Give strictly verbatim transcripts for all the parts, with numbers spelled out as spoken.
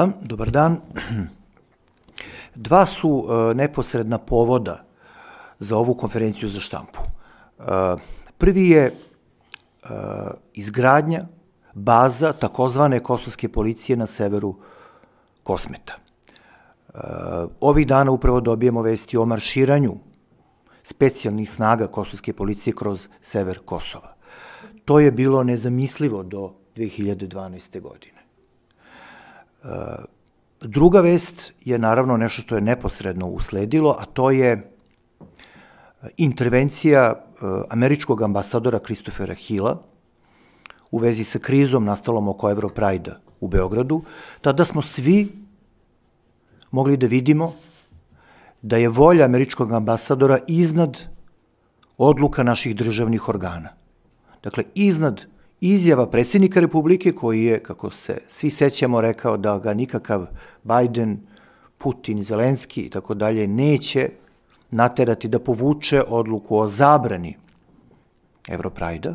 Dobar dan. Dva su neposredna povoda za ovu konferenciju za štampu. Prvi je izgradnja baza takozvane kosovske policije na severu Kosmeta. Ovih dana upravo dobijemo vesti o marširanju specijalnih snaga kosovske policije kroz sever Kosova. To je bilo nezamislivo do dve hiljade dvanaeste. godine. Druga vest je naravno nešto što je neposredno usledilo, a to je intervencija američkog ambasadora Christophera Hilla u vezi sa krizom nastalom oko Europride-a u Beogradu. Tada smo svi mogli da vidimo da je volja američkog ambasadora iznad odluka naših državnih organa. Dakle, iznad izjava predsjednika Republike koji je, kako se svi sećamo, rekao da ga nikakav Biden, Putin, Zelenski i tako dalje neće naterati da povuče odluku o zabrani Europride-a,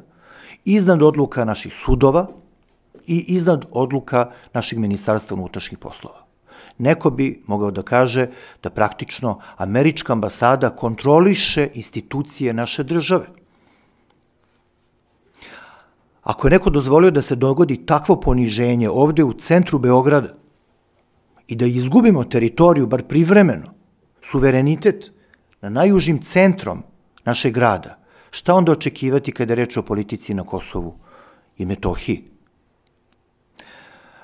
iznad odluka naših sudova i iznad odluka našeg ministarstva unutrašnjih poslova. Neko bi mogao da kaže da praktično američka ambasada kontroliše institucije naše države. Ako je neko dozvolio da se dogodi takvo poniženje ovde u centru Beograda i da izgubimo teritoriju, bar privremeno, suverenitet na najužim centrom našeg grada, šta onda očekivati kada je reč o politici na Kosovu i Metohiji?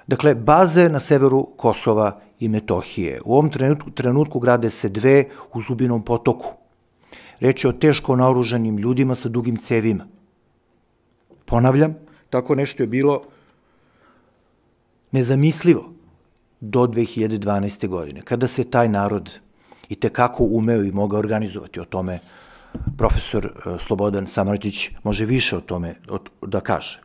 Dakle, baze na severu Kosova i Metohije. U ovom trenutku, trenutku grade se dve u Zubinom potoku. Reč je o teško naoružanim ljudima sa dugim cevima. Ponavljam, tako nešto je bilo nezamislivo do dve hiljade dvanaeste. godine, kada se taj narod i tekako umeo i mogao organizovati. O tome profesor Slobodan Samardžić može više o tome da kaže.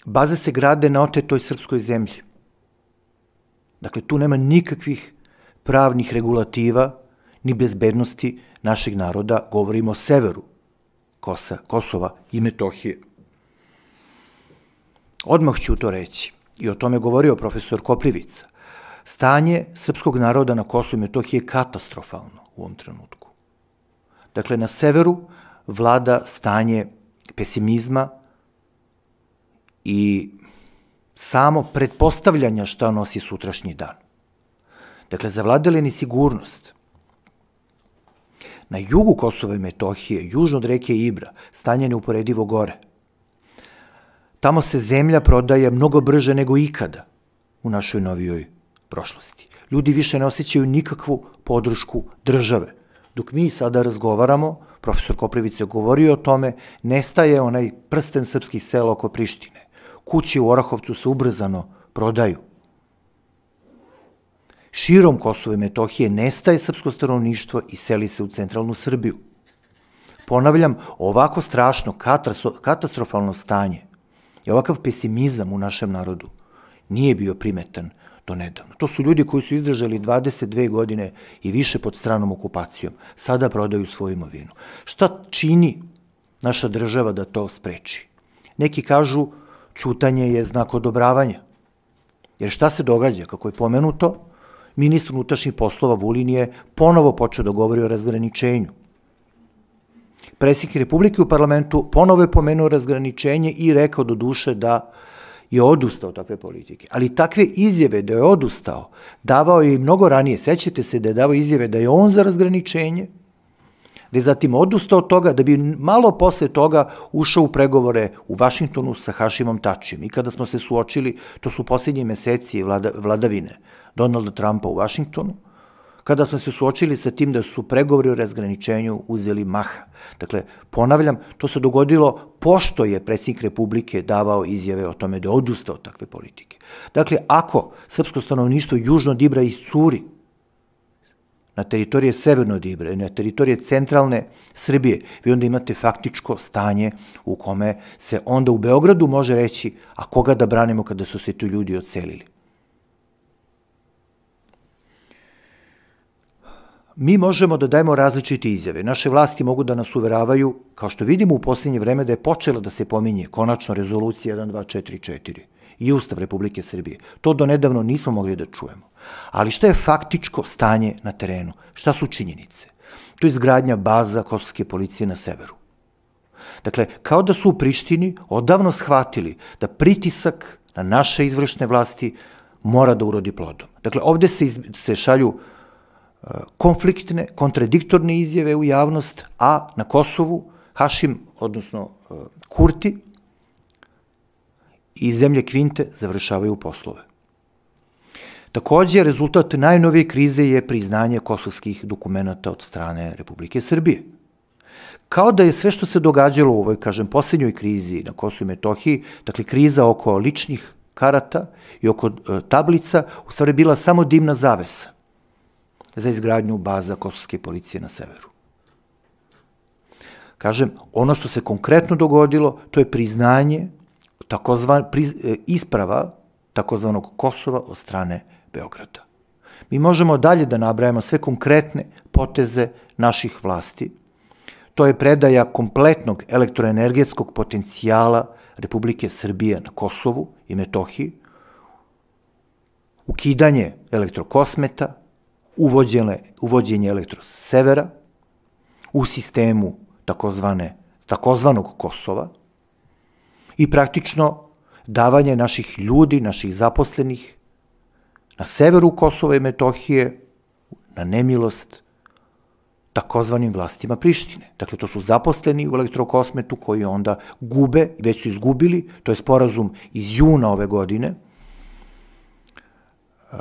Baze se grade na otetoj srpskoj zemlji. Dakle, tu nema nikakvih pravnih regulativa ni bezbednosti našeg naroda, govorimo o severu Kosova i Metohije. Odmah ću to reći, i o tome govorio profesor Koprivica. Stanje srpskog naroda na Kosovu i Metohiji je katastrofalno u ovom trenutku. Dakle, na severu vlada stanje pesimizma i samo pretpostavljanja šta nosi sutrašnji dan. Dakle, zavladala je nesigurnost. Na jugu Kosova i Metohije, južno od reke Ibra, stanje je neuporedivo gore. Tamo se zemlja prodaje mnogo brže nego ikada u našoj novijoj prošlosti. Ljudi više ne osjećaju nikakvu podršku države. Dok mi sada razgovaramo, profesor Koprivica je govorio o tome, nestaje onaj prsten srpskih sela oko Prištine. Kuće u Orahovcu se ubrzano prodaju. Širom Kosova i Metohije nestaje srpsko stanovništvo i seli se u centralnu Srbiju. Ponavljam, ovako strašno, katastrofalno stanje i ovakav pesimizam u našem narodu nije bio primetan do nedavno. To su ljudi koji su izdržali dvadeset dve godine i više pod stranom okupacijom. Sada prodaju svoju imovinu. Šta čini naša država da to spreči? Neki kažu ćutanje je znak odobravanja. Jer šta se događa? Kako je pomenuto, ministar unutrašnjih poslova Vulin je ponovo počeo da govori o razgraničenju. Predsjednik Republike u parlamentu ponovo je pomenuo razgraničenje i rekao do duše da je odustao takve politike. Ali takve izjave da je odustao davao je i mnogo ranije. Sećate se da je davao izjave da je on za razgraničenje, da je zatim odustao od toga, da bi malo posle toga ušao u pregovore u Vašingtonu sa Hašimom Tačijem. I kada smo se suočili, to su posljednji meseci vladavine Donalda Trumpa u Vašingtonu, kada smo se suočili sa tim da su pregovori o razgraničenju uzeli maha. Dakle, ponavljam, to se dogodilo pošto je predsjednik Republike davao izjave o tome da je odustao od takve politike. Dakle, ako srpsko stanovništvo južno od Ibra iscuri na teritorije severno od Ibra i na teritorije centralne Srbije, vi onda imate faktičko stanje u kome se onda u Beogradu može reći, a koga da branimo kada su se tu ljudi odselili. mi možemo da dajemo različite izjave. Naše vlasti mogu da nas uveravaju, kao što vidimo u posljednje vreme, da je počela da se pominje konačno rezolucija jedan dva četiri četiri i Ustav Republike Srbije. To do nedavno nismo mogli da čujemo. Ali šta je faktičko stanje na terenu? Šta su činjenice? To je izgradnja baza kosovske policije na severu. Dakle, kao da su u Prištini odavno shvatili da pritisak na naše izvršne vlasti mora da urodi plodom. Dakle, ovde se, iz, se šalju uh, konfliktne, kontradiktorne izjave u javnost, a na Kosovu Hašim, odnosno uh, Kurti i zemlje Kvinte završavaju poslove. Takođe, rezultat najnovije krize je priznanje kosovskih dokumenta od strane Republike Srbije. Kao da je sve što se događalo u ovoj, kažem, posljednjoj krizi na Kosovu i Metohiji, dakle, kriza oko ličnih karata i oko e, tablica, u stvari bila samo dimna zavesa za izgradnju baza kosovske policije na severu. Kažem, ono što se konkretno dogodilo, to je priznanje, takozvan, priz, e, isprava takozvanog Kosova od strane Beograda. Mi možemo dalje da nabrajamo sve konkretne poteze naših vlasti. To je predaja kompletnog elektroenergetskog potencijala Republike Srbije na Kosovu i Metohiji, ukidanje elektrokosmeta, uvođenje, uvođenje elektrosevera u sistemu takozvane, takozvanog Kosova i praktično davanje naših ljudi, naših zaposlenih na severu Kosova i Metohije na nemilost takozvanim vlastima Prištine. Dakle, to su zaposleni u elektrokosmetu koji onda gube, već su izgubili, to je sporazum iz juna ove godine, uh,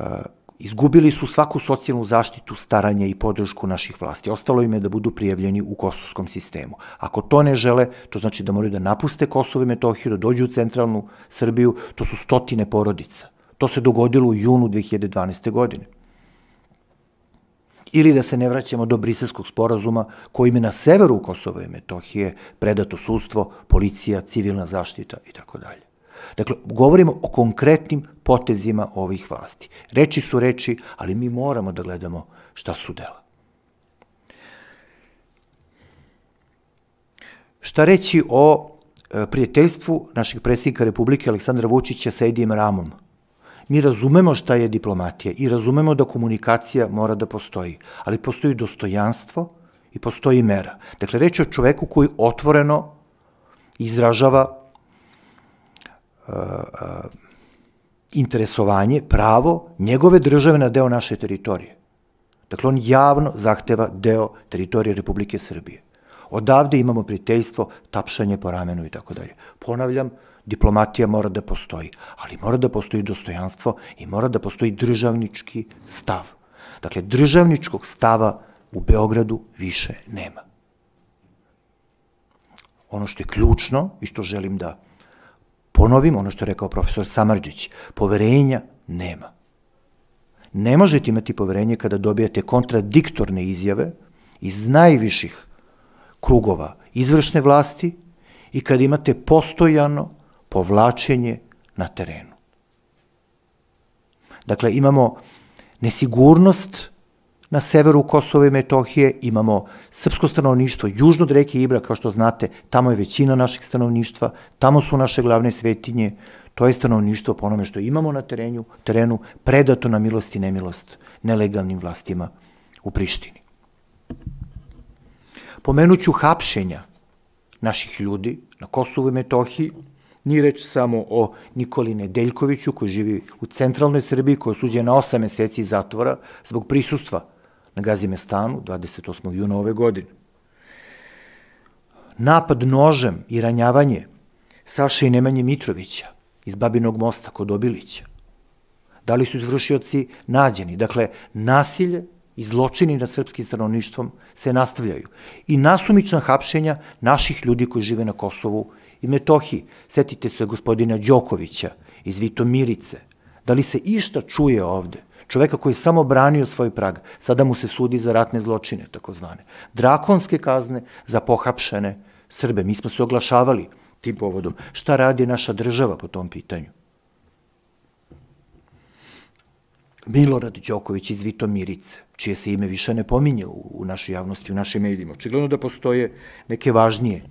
izgubili su svaku socijalnu zaštitu, staranje i podršku naših vlasti. Ostalo im je da budu prijavljeni u kosovskom sistemu. Ako to ne žele, to znači da moraju da napuste Kosovo i Metohiju, da dođu u centralnu Srbiju, to su stotine porodica. To se dogodilo u junu dve hiljade dvanaeste. godine. Ili da se ne vraćamo do Briselskog sporazuma kojim je na severu Kosova i Metohije predato sudstvo, policija, civilna zaštita i tako dalje. Dakle, govorimo o konkretnim potezima ovih vlasti. Reči su reči, ali mi moramo da gledamo šta su dela. Šta reći o prijateljstvu našeg predsjednika Republike Aleksandra Vučića sa Edijem Ramom? Mi razumemo šta je diplomatija i razumemo da komunikacija mora da postoji, ali postoji dostojanstvo i postoji mera. Dakle, reč je o čoveku koji otvoreno izražava uh, uh, interesovanje, pravo njegove države na deo naše teritorije. Dakle, on javno zahteva deo teritorije Republike Srbije. Odavde imamo prijateljstvo, tapšanje po ramenu i tako dalje. Ponavljam, diplomatija mora da postoji, ali mora da postoji dostojanstvo i mora da postoji državnički stav. Dakle, državničkog stava u Beogradu više nema. Ono što je ključno i što želim da ponovim, ono što je rekao profesor Samardžić, poverenja nema. Ne možete imati poverenje kada dobijate kontradiktorne izjave iz najviših krugova izvršne vlasti i kada imate postojano povlačenje na terenu. Dakle, imamo nesigurnost na severu Kosova i Metohije, imamo srpsko stanovništvo južno od reke Ibra, kao što znate, tamo je većina našeg stanovništva, tamo su naše glavne svetinje, to je stanovništvo po onome što imamo na terenu, terenu predato na milost i nemilost nelegalnim vlastima u Prištini. Pomenuću hapšenja naših ljudi na Kosovu i Metohiji. Nije reč samo o Nikoli Nedeljkoviću koji živi u centralnoj Srbiji, koji je osuđen na osam meseci zatvora zbog prisustva na Gazimestanu dvadeset osmog juna ove godine. Napad nožem i ranjavanje Saše i Nemanje Mitrovića iz Babinog Mosta kod Obilića. Da li su izvršioci nađeni? Dakle, nasilje i zločini nad srpskim stanovništvom se nastavljaju. I nasumična hapšenja naših ljudi koji žive na Kosovu i Metohiji. Setite se gospodina Đokovića iz Vitomirice. Da li se išta čuje ovde? Čoveka koji je samo branio svoj prag. Sada mu se sudi za ratne zločine, takozvane. Drakonske kazne za pohapšene Srbe. Mi smo se oglašavali tim povodom. Šta radi naša država po tom pitanju? Milorad Đoković iz Vitomirice, čije se ime više ne pominje u našoj javnosti, u našim medijima. Očigledno da postoje neke važnije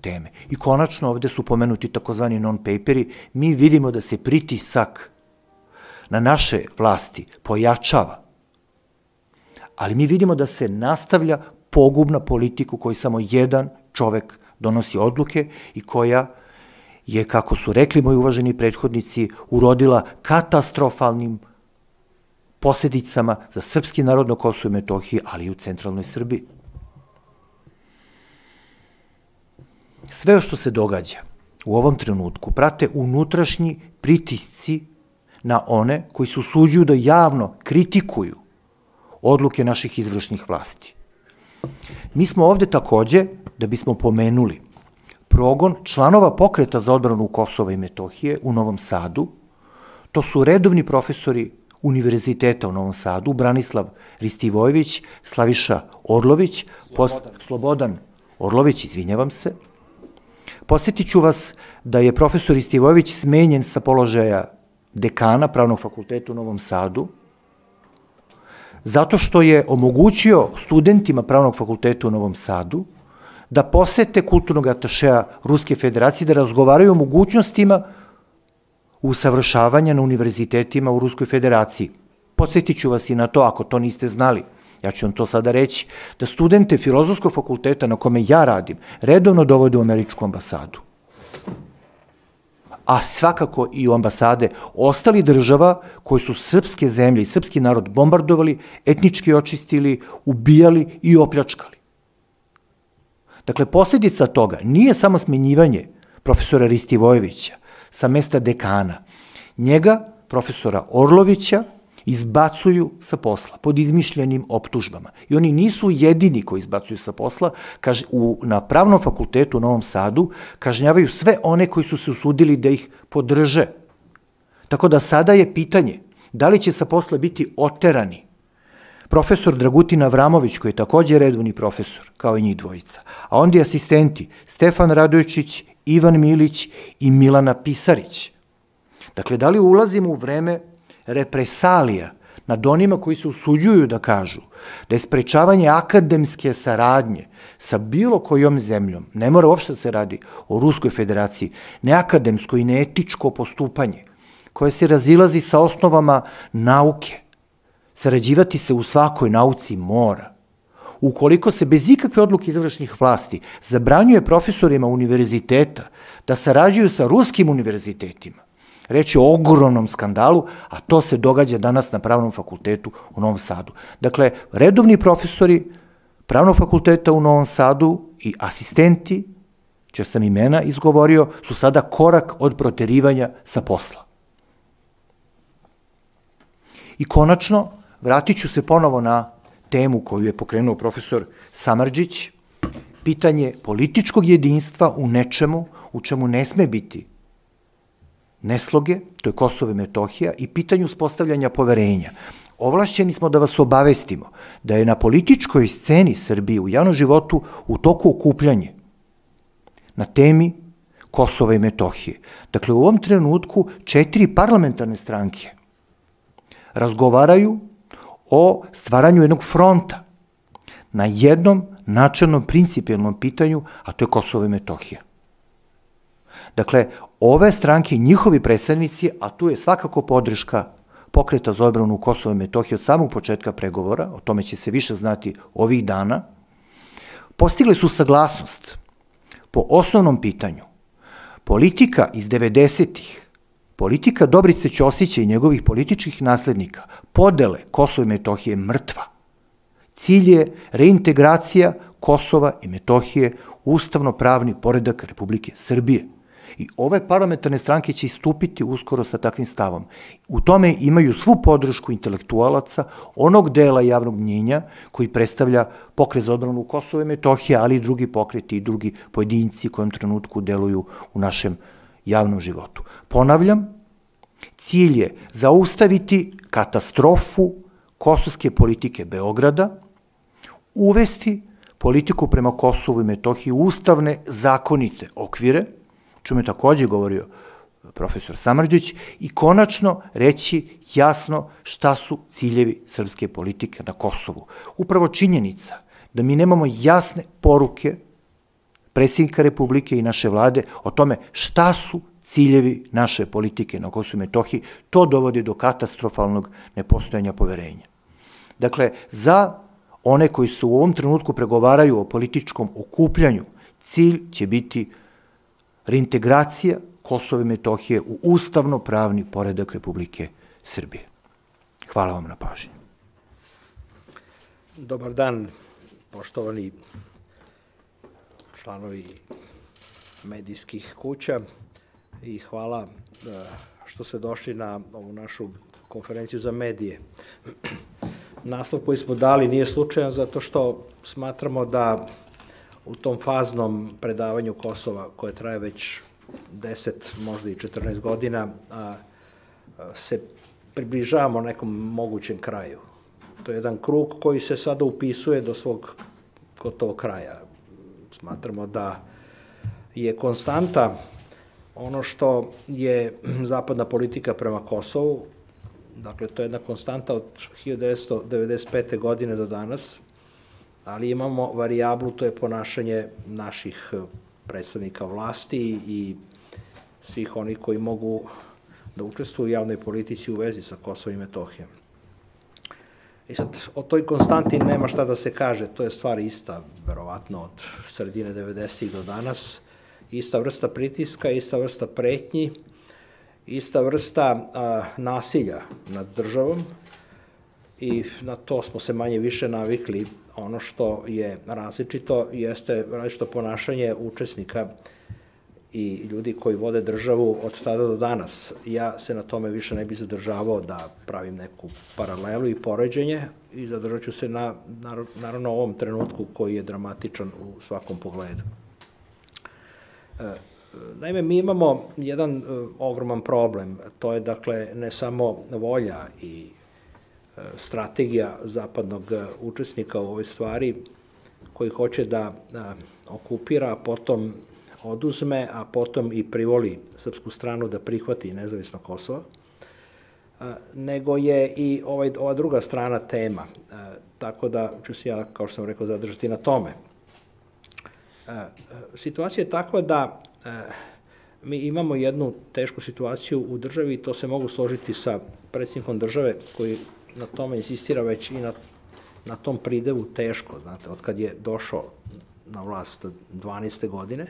teme. I konačno ovde su pomenuti takozvani non-paperi. Mi vidimo da se pritisak na naše vlasti pojačava, ali mi vidimo da se nastavlja pogubna politika u kojoj samo jedan čovek donosi odluke i koja je, kako su rekli moji uvaženi prethodnici, urodila katastrofalnim posljedicama za srpski narod na Kosovu i Metohiji, ali i u centralnoj Srbiji. Sve što se događa u ovom trenutku prate unutrašnji pritisci na one koji se usuđuju da javno kritikuju odluke naših izvršnih vlasti. Mi smo ovde takođe, da bismo pomenuli, progon članova pokreta za odbranu Kosova i Metohije u Novom Sadu. To su redovni profesori Univerziteta u Novom Sadu, Branislav Ristivojević, Slaviša Orlović, Slobodan Orlović, izvinjavam se. Posjetit ću vas da je profesor Ristivojević smenjen sa položaja dekana Pravnog fakulteta u Novom Sadu, zato što je omogućio studentima Pravnog fakulteta u Novom Sadu da posete kulturnog atašea Ruske federacije, da razgovaraju o mogućnostima usavršavanja na univerzitetima u Ruskoj federaciji. Podsjetit ću vas i na to, ako to niste znali, ja ću vam to sada reći, da studente Filozofskog fakulteta na kome ja radim redovno dovode u američku ambasadu. A svakako i u ambasade ostali država koji su srpske zemlje i srpski narod bombardovali, etnički očistili, ubijali i opljačkali. Dakle, posljedica toga nije samo smenjivanje profesora Ristivojevića sa mesta dekana. Njega, profesora Orlovića, izbacuju sa posla pod izmišljenim optužbama. I oni nisu jedini koji izbacuju sa posla. Na Pravnom fakultetu u Novom Sadu kažnjavaju sve one koji su se usudili da ih podrže. Tako da sada je pitanje da li će sa posla biti oterani profesor Dragutin Avramović, koji je takođe redovni profesor, kao i njih dvojica, a onda i asistenti Stefan Radojčić, Ivan Milić i Milana Pisarić. Dakle, da li ulazimo u vreme represalija nad onima koji se usuđuju da kažu da je sprečavanje akademske saradnje sa bilo kojom zemljom, ne mora uopšte da se radi o Ruskoj federaciji, neakademsko i neetičko postupanje koje se razilazi sa osnovama nauke. Sarađivati se u svakoj nauci mora. Ukoliko se bez ikakve odluke izvršnih vlasti zabranjuje profesorima univerziteta da sarađuju sa ruskim univerzitetima, reč je o ogromnom skandalu, a to se događa danas na Pravnom fakultetu u Novom Sadu. Dakle, redovni profesori Pravnog fakulteta u Novom Sadu i asistenti, čija sam imena izgovorio, su sada korak od proterivanja sa posla. I konačno, vratit ću se ponovo na temu koju je pokrenuo profesor Samardžić, pitanje političkog jedinstva u nečemu u čemu ne sme biti nesloge, to je Kosovo i Metohija, i pitanju uspostavljanja poverenja. Ovlašćeni smo da vas obavestimo da je na političkoj sceni Srbije u javnom životu u toku okupljanje na temi Kosova i Metohije. Dakle, u ovom trenutku četiri parlamentarne stranke razgovaraju o stvaranju jednog fronta na jednom načelnom principijelnom pitanju, a to je Kosovo i Metohija. Dakle, ove stranke i njihovi predstavnici, a tu je svakako podrška Pokreta za odbranu Kosova i Metohije od samog početka pregovora, o tome će se više znati ovih dana, postigli su saglasnost po osnovnom pitanju. Politika iz devedesetih, politika Dobrice Ćosića i njegovih političkih naslednika, podele Kosova i Metohije mrtva. Cilj je reintegracija Kosova i Metohije u ustavno-pravni poredak Republike Srbije. I ove parlamentarne stranke će istupiti uskoro sa takvim stavom. U tome imaju svu podršku intelektualaca, onog dela javnog mnjenja koji predstavlja Pokret za odbranu Kosova i Metohije, ali i drugi pokreti i drugi pojedinci koji u trenutku deluju u našem javnom životu. Ponavljam, cilj je zaustaviti katastrofu kosovske politike Beograda, uvesti politiku prema Kosovu i Metohiji u ustavne zakonite okvire, čemu je takođe govorio profesor Samardžić, i konačno reći jasno šta su ciljevi srpske politike na Kosovu. Upravo činjenica da mi nemamo jasne poruke predsjednika Republike i naše vlade o tome šta su ciljevi naše politike na Kosovu i Metohiji, to dovodi do katastrofalnog nepostojanja poverenja. Dakle, za one koji se u ovom trenutku pregovaraju o političkom okupljanju, cilj će biti reintegracija Kosova i Metohije u ustavno-pravni poredak Republike Srbije. Hvala vam na pažnji. Dobar dan, poštovani članovi medijskih kuća, i hvala što ste došli na ovu našu konferenciju za medije. Naslov koji smo dali nije slučajan zato što smatramo da u tom faznom predavanju Kosova, koje traje već deset, možda i četrnaest godina, se približavamo nekom mogućem kraju. To je jedan krug koji se sada upisuje do svog gotovog kraja. Smatramo da je konstanta ono što je zapadna politika prema Kosovu. Dakle, to je jedna konstanta od hiljadu devetsto devedeset pete. godine do danas, ali imamo varijablu, to je ponašanje naših predstavnika vlasti i svih onih koji mogu da učestvuju u javnoj politici u vezi sa Kosovom i Metohijom. I sad, o toj konstanti nema šta da se kaže, to je stvar ista, verovatno, od sredine devedesetih do danas, ista vrsta pritiska, ista vrsta pretnji, ista vrsta nasilja nad državom, i na to smo se manje više navikli. Ono što je različito jeste različito ponašanje učesnika i ljudi koji vode državu od tada do danas. Ja se na tome više ne bih zadržavao da pravim neku paralelu i poređenje, i zadržat ću se na, naravno, ovom trenutku koji je dramatičan u svakom pogledu. Naime, mi imamo jedan ogroman problem, to je, dakle, ne samo volja i strategija zapadnog učesnika u ovoj stvari, koji hoće da okupira, a potom oduzme, a potom i privoli srpsku stranu da prihvati nezavisno Kosovo, nego je i ova druga strana tema, tako da ću se ja, kao što sam rekao, zadržati na tome. Situacija je takva da mi imamo jednu tešku situaciju u državi, i to se mogu složiti sa predsjednikom države koji na tome insistira već i na, na tom pridevu teško, znate, od kad je došao na vlast dvanaeste. godine,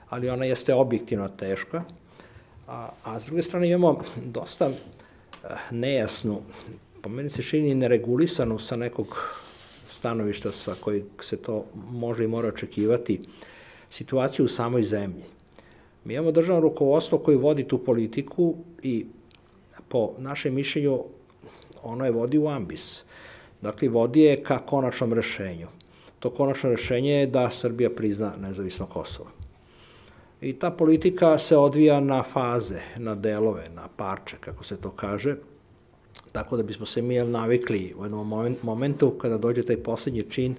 ali ona jeste objektivno teška, a, a s druge strane imamo dosta nejasnu, po meni se čini neregulisanu sa nekog stanovišta sa kojeg se to može i mora očekivati, situaciju u samoj zemlji. Mi imamo državno rukovodstvo koji vodi tu politiku i po našem mišljenju ono je vodi u ambis. Dakle, vodi je ka konačnom rešenju. To konačno rešenje je da Srbija prizna nezavisno Kosovo. I ta politika se odvija na faze, na delove, na parče, kako se to kaže, tako da bismo se mi navikli u jednom momentu kada dođe taj poslednji čin,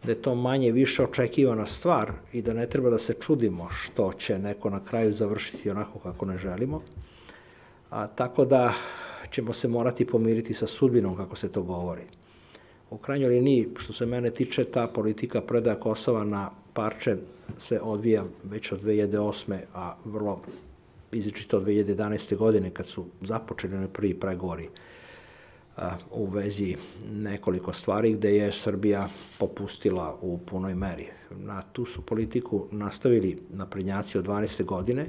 da je to manje više očekivana stvar i da ne treba da se čudimo što će neko na kraju završiti onako kako ne želimo, a, tako da ćemo se morati pomiriti sa sudbinom, kako se to govori. U krajnjoj liniji, što se mene tiče, ta politika predaja Kosova na parče se odvija već od dve hiljade osme. a vrlo izričito od dve hiljade jedanaeste. godine, kad su započeli na prvi pregovori u vezi nekoliko stvari gde je Srbija popustila u punoj meri. Na tu su politiku nastavili naprednjaci od dvanaeste. godine,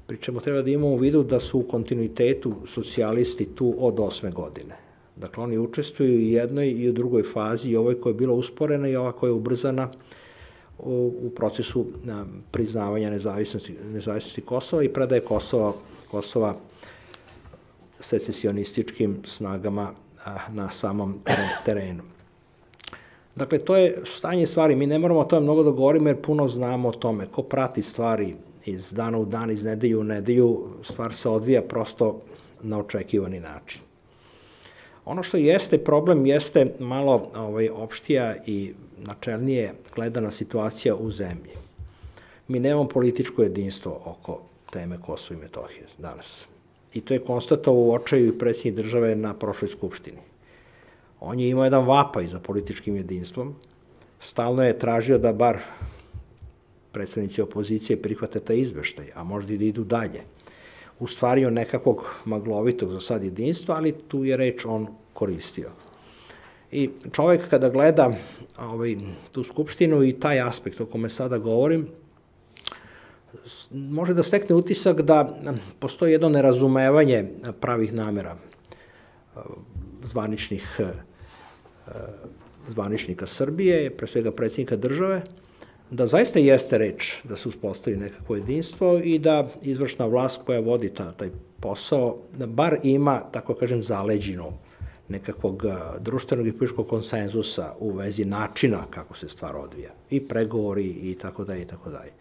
pri čemu treba da imamo u vidu da su u kontinuitetu socijalisti tu od osme. godine. Dakle, oni učestvuju i u jednoj i u drugoj fazi, i ovoj koja je bila usporena i ova koja je ubrzana u, u procesu a, priznavanja nezavisnosti, nezavisnosti Kosova i predaje Kosova, Kosova secesionističkim snagama a, na samom terenu. Dakle, to je stanje stvari. Mi ne moramo o tome mnogo da govorimo jer puno znamo o tome. Ko prati stvari iz dana u dan, iz nedelju u nedelju, stvar se odvija prosto na očekivani način. Ono što jeste problem jeste malo ovaj, opštija i načelnije gledana situacija u zemlji. Mi nemamo političko jedinstvo oko teme Kosova i Metohije danas. I to je konstatovao u očaju i predsjednik države na prošloj skupštini. On je imao jedan vapaj za političkim jedinstvom, stalno je tražio da bar predstavnici opozicije prihvate taj izveštaj, a možda i da idu dalje. U stvari on nekakvog maglovitog za sad jedinstva, ali tu je reč on koristio. I čovek kada gleda ovaj, tu skupštinu i taj aspekt o kome sada govorim, može da stekne utisak da postoji jedno nerazumevanje pravih namera zvaničnih, zvaničnika Srbije, pre svega predsjednika države, da zaista jeste reč da se uspostavi nekakvo jedinstvo i da izvršna vlast koja vodi ta, taj posao, da bar ima, tako kažem, zaleđinu nekakvog društvenog i političkog konsenzusa u vezi načina kako se stvar odvija. I pregovori i tako dalje i tako dalje.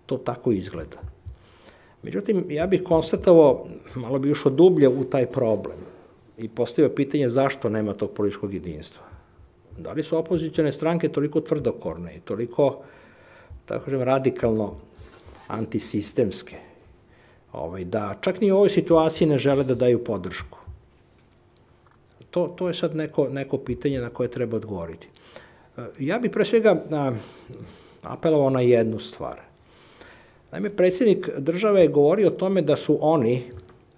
To tako izgleda. Međutim, ja bih konstatovao, malo bi ušao dublje u taj problem i postavio pitanje zašto nema tog političkog jedinstva. Da li su opozicione stranke toliko tvrdokorne i toliko, tako kažem, radikalno antisistemske, ovaj, da čak ni u ovoj situaciji ne žele da daju podršku? To, to je sad neko, neko pitanje na koje treba odgovoriti. Ja bih pre svega a, apelovao na jednu stvar. Naime, predsjednik države je govorio o tome da su oni,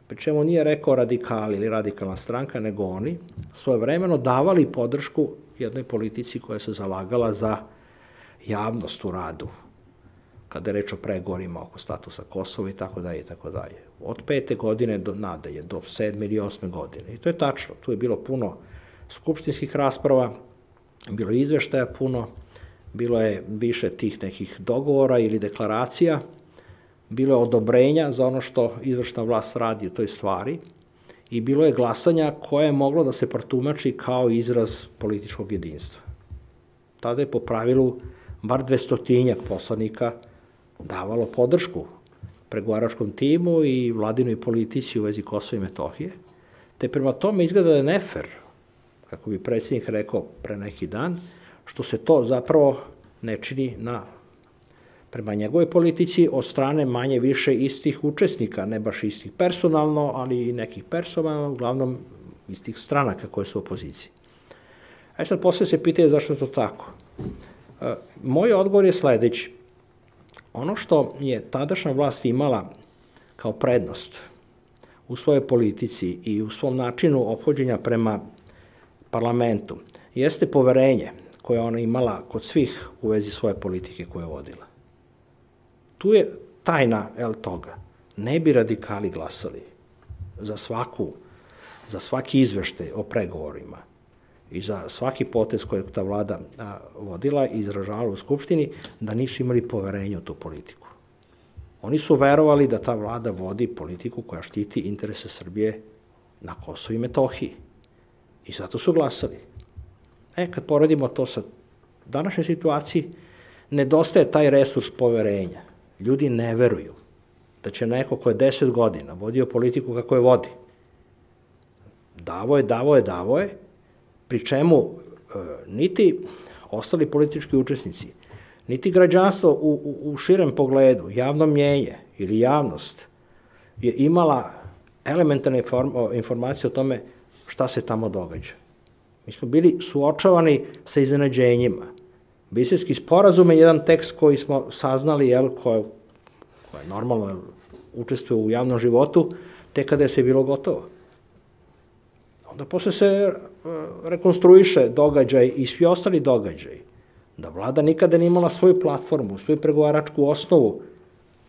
pri čemu nije rekao radikali ili radikalna stranka, nego oni, svojevremeno davali podršku jednoj politici koja se zalagala za javnost u radu, kada je reč o pregovorima oko statusa Kosova i tako dalje i tako dalje. Od pete godine do nadalje, do sedme ili osme godine. I to je tačno. Tu je bilo puno skupštinskih rasprava, bilo je izveštaja puno, bilo je više tih nekih dogovora ili deklaracija, bilo je odobrenja za ono što izvršna vlast radi u toj stvari i bilo je glasanja koje je moglo da se protumači kao izraz političkog jedinstva. Tada je po pravilu bar dvestotinjak poslanika davalo podršku pregovaračkom timu i vladinoj politici u vezi Kosova i Metohije, te prema tome izgleda da je nefer, kako bi predsjednik rekao pre neki dan, što se to zapravo ne čini na, prema njegovoj politici od strane manje više istih učesnika, ne baš istih personalno, ali i nekih personalno, uglavnom istih stranaka koje su u opoziciji. A sad posle se pitaju zašto je to tako. E, moj odgovor je sledeći. Ono što je tadašnja vlast imala kao prednost u svojoj politici i u svom načinu ophođenja prema parlamentu jeste poverenje koje ona imala kod svih u vezi svoje politike koje je vodila. Tu je tajna el, toga. Ne bi radikali glasali za svaku, za svaki izveštaj o pregovorima i za svaki potez koji je ta vlada a, vodila i izražavala u Skupštini, da nisu imali poverenje u tu politiku. Oni su verovali da ta vlada vodi politiku koja štiti interese Srbije na Kosovu i Metohiji. I zato su glasali. E, kad poredimo to sa današnjoj situaciji, nedostaje taj resurs poverenja. Ljudi ne veruju da će neko ko je deset godina vodio politiku kako je vodi. Davo je, davo je, davo je, pri čemu e, niti ostali politički učesnici, niti građanstvo u, u, u širem pogledu, javno mnjenje ili javnost je imala elementarne inform, informacije o tome šta se tamo događa. Mi smo bili suočavani sa iznenađenjima. Briselski sporazum je jedan tekst koji smo saznali, jel, koje, koje normalno učestvuje u javnom životu, tek kada je sve bilo gotovo. Onda posle se rekonstruiše događaj i svi ostali događaji. Da vlada nikada nije imala svoju platformu, svoju pregovaračku osnovu,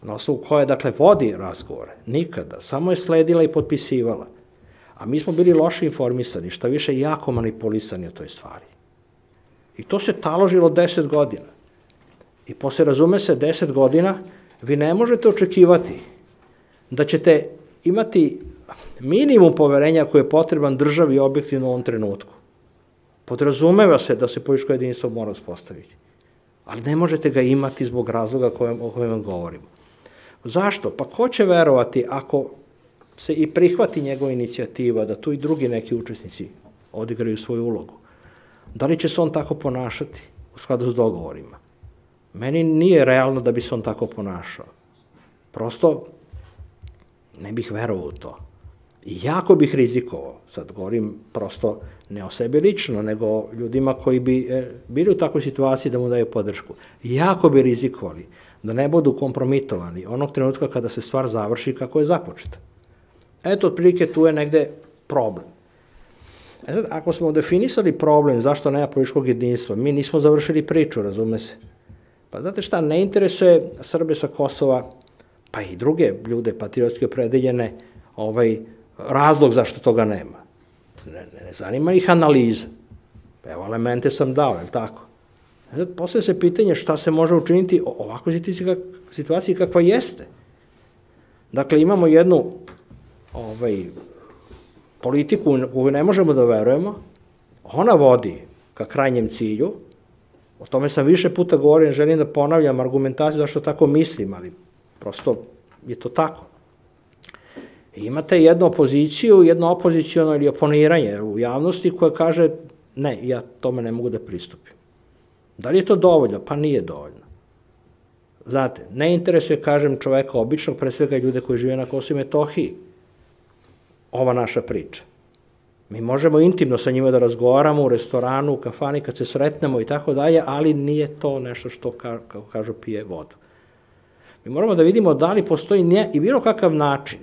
na osnovu koje, dakle, vodi razgovore. Nikada. Samo je sledila i potpisivala. A mi smo bili loše informisani, šta više jako manipulisani o toj stvari. I to se taložilo deset godina. I posle, razume se, deset godina vi ne možete očekivati da ćete imati minimum poverenja koji je potreban državi objektivno u ovom trenutku. Podrazumeva se da se političko jedinstvo mora uspostaviti. Ali ne možete ga imati zbog razloga o kojem vam govorimo. Zašto? Pa ko će verovati ako se i prihvati njegova inicijativa da tu i drugi neki učesnici odigraju svoju ulogu? Da li će se on tako ponašati u skladu s dogovorima? Meni nije realno da bi se on tako ponašao. Prosto Ne bih verovao u to. I jako bih rizikovao, sad govorim prosto ne o sebi lično, nego ljudima koji bi bili u takvoj situaciji da mu daju podršku. Jako bi rizikovali da ne budu kompromitovani onog trenutka kada se stvar završi kako je započeta. Eto, otprilike tu je negde problem. E sad, ako smo definisali problem zašto nema političkog jedinstva, mi nismo završili priču, razume se. Pa znate šta, ne interesuje Srbe sa Kosova, pa i druge ljude patriotski opredeljene, ovaj, razlog zašto toga nema. Ne, ne, ne zanima ih analiza. Evo, elemente sam dao, je li tako? E sad, postavlja se pitanje šta se može učiniti u ovakvoj situaciji kakva jeste. Dakle, imamo jednu ovaj, politiku koju ne možemo da verujemo, ona vodi ka krajnjem cilju, o tome sam više puta govorio, ne želim da ponavljam argumentaciju zašto tako mislim, ali prosto je to tako. I imate jednu opoziciju, jedno opozicijono ili oponiranje u javnosti koje kaže ne, ja tome ne mogu da pristupim. Da li je to dovoljno? Pa nije dovoljno. Znate, ne interesuje, kažem, čoveka običnog, pre svega ljude koji žive na Kosovu i Metohiji, ova naša priča. Mi možemo intimno sa njima da razgovaramo u restoranu, u kafani, kad se sretnemo i tako dalje, ali nije to nešto što, kako kažu, pije vodu. Mi moramo da vidimo da li postoji i bilo kakav način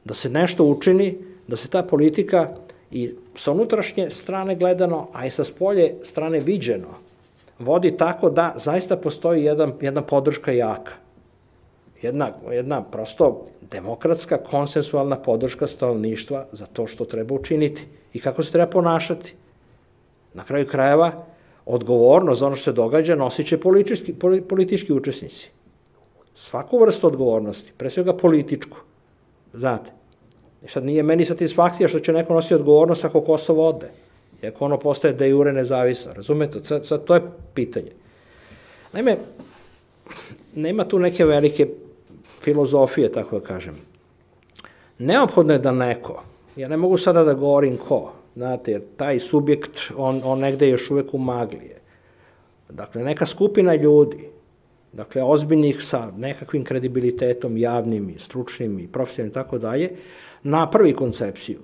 da se nešto učini, da se ta politika i sa unutrašnje strane gledano, a i sa spolje strane viđeno, vodi tako da zaista postoji jedan, jedna podrška jaka. Jedna, jedna prosto demokratska, konsensualna podrška stanovništva za to što treba učiniti i kako se treba ponašati. Na kraju krajeva, odgovornost za ono što se događa nosit će politički, politički učesnici. Svaku vrstu odgovornosti, pre svega političku. Znate, sad nije meni satisfakcija što će neko nositi odgovornost ako Kosovo ode, i ako ono postaje de jure nezavisno, razumete? Sad, sad to je pitanje. Naime, nema tu neke velike filozofije, tako da kažem. Neophodno je da neko, ja ne mogu sada da govorim ko, znate, jer taj subjekt, on, on negde još uvek u maglije. Dakle, neka skupina ljudi, dakle, ozbiljnih sa nekakvim kredibilitetom, javnim i stručnim i profesionalnim i tako dalje, napravi koncepciju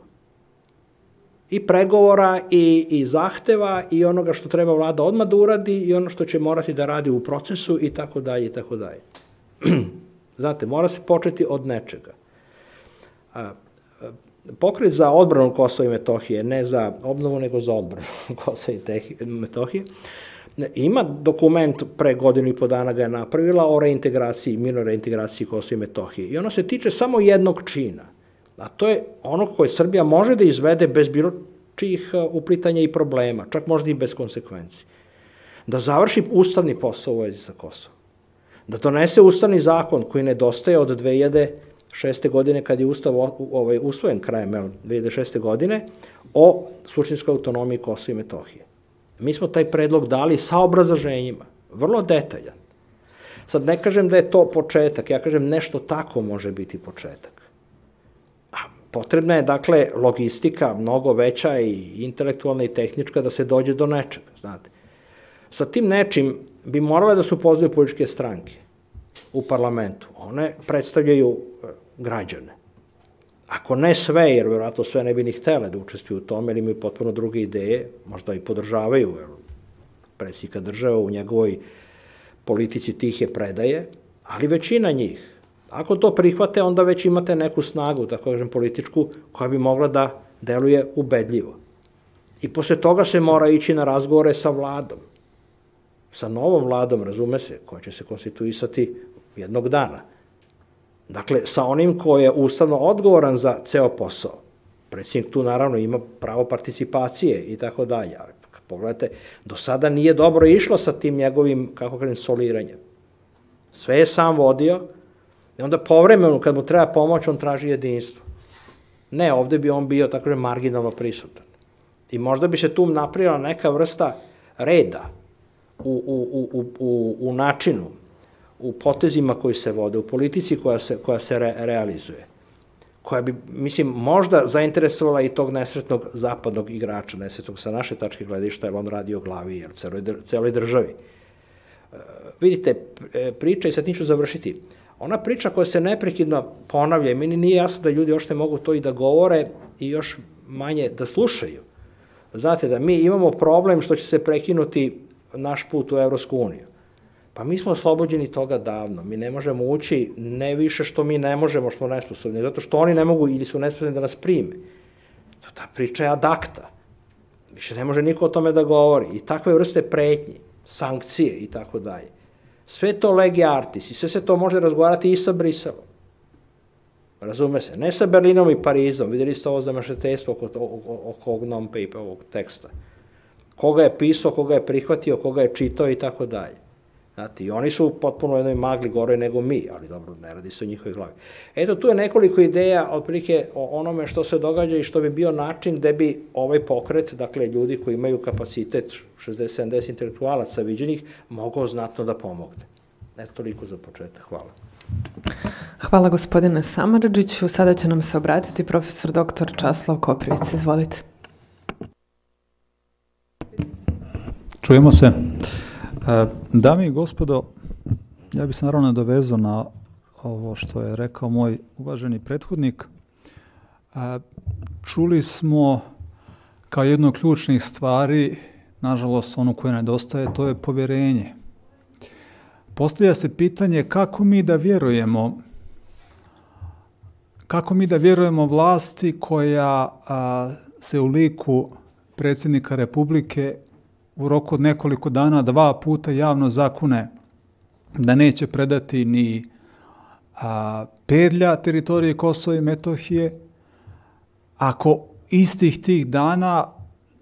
i pregovora i, i zahteva i onoga što treba vlada odmah da uradi i ono što će morati da radi u procesu i tako dalje i tako dalje. Znate, mora se početi od nečega. Pokret za odbranu Kosova i Metohije, ne za obnovu, nego za odbranu Kosova i Metohije, ima dokument, pre godinu i po dana ga je napravila, o reintegraciji, mirnoj reintegraciji Kosova i Metohije. I ono se tiče samo jednog čina, a to je ono koje Srbija može da izvede bez bilo čijih uplitanja i problema, čak možda i bez konsekvenci. Da završi ustavni posao u vezi sa Kosovom. Da donese ustavni zakon koji nedostaje od dve hiljade šeste. godine, kad je ustav ovaj, usvojen krajem dve hiljade šeste. godine, o suštinskoj autonomiji Kosova i Metohije. Mi smo taj predlog dali sa obrazloženjima, vrlo detaljan. Sad ne kažem da je to početak, ja kažem nešto tako može biti početak. A potrebna je, dakle, logistika mnogo veća i intelektualna i tehnička da se dođe do nečega, znate. Sa tim nečim bi morale da se upoznaju političke stranke u parlamentu. One predstavljaju građane. Ako ne sve, jer vjerojatno sve ne bi ni htele da učestvuju u tome, ili imaju potpuno druge ideje, možda i podržavaju predsjednika države u njegovoj politici tihe predaje, ali većina njih. Ako to prihvate, onda već imate neku snagu, tako kažem, političku, koja bi mogla da deluje ubedljivo. I posle toga se mora ići na razgovore sa vladom. Sa novom vladom, razume se, koja će se konstituisati jednog dana. Dakle, sa onim ko je ustavno odgovoran za ceo posao. Predsjednik tu naravno ima pravo participacije i tako dalje. Ali pogledajte, do sada nije dobro išlo sa tim njegovim, kako kažem, soliranjem. Sve je sam vodio i onda povremeno, kad mu treba pomoć, on traži jedinstvo. Ne, ovde bi on bio, tako kažem, marginalno prisutan. I možda bi se tu napravila neka vrsta reda u, u, u, u, u načinu, u potezima koji se vode, u politici koja se, koja se re, realizuje, koja bi, mislim, možda zainteresovala i tog nesretnog zapadnog igrača, nesretnog sa naše tačke gledišta, jer on radi o glavi, jer celoj, celoj državi. E, vidite, priča, i sad niću završiti, ona priča koja se neprekidno ponavlja i meni nije jasno da ljudi uopšte mogu to i da govore i još manje da slušaju. Znate da mi imamo problem što će se prekinuti naš put u Evropsku uniju. Pa mi smo oslobođeni toga davno. Mi ne možemo ući, ne više što mi ne možemo, što smo nesposobni, zato što oni ne mogu ili su nesposobni da nas prime. Ta priča je ad acta. Više ne može niko o tome da govori. I takve vrste pretnji, sankcije i tako dalje. Sve to legi artis i sve se to može razgovarati i sa Briselom. Razume se. Ne sa Berlinom i Parizom. Vidjeli ste ovo zamašetejstvo oko, oko ovog non-paper, ovog teksta. Koga je pisao, koga je prihvatio, koga je čitao i tako dalje. Znate, i oni su potpuno u jednoj magli gore nego mi, ali dobro, ne radi se o njihovoj glavi. Eto, tu je nekoliko ideja, otprilike, o onome što se događa i što bi bio način gde bi ovaj pokret, dakle, ljudi koji imaju kapacitet šezdeset sedamdeset intelektualaca viđenih, mogao znatno da pomogne. Eto, toliko za početak. Hvala. Hvala gospodine Samardžiću. Sada će nam se obratiti profesor doktor Časlav Koprivica. Izvolite. Čujemo se. Dame i gospodo, ja bih se naravno nadovezao na ovo što je rekao moj uvaženi prethodnik. Čuli smo kao jednu od ključnih stvari, nažalost ono koje nedostaje, to je povjerenje. Postavlja se pitanje kako mi da vjerujemo, kako mi da vjerujemo vlasti koja a, se u liku predsjednika Republike u roku od nekoliko dana dva puta javno zakune da neće predati ni a, pedlja teritorije Kosova i Metohije, ako istih tih dana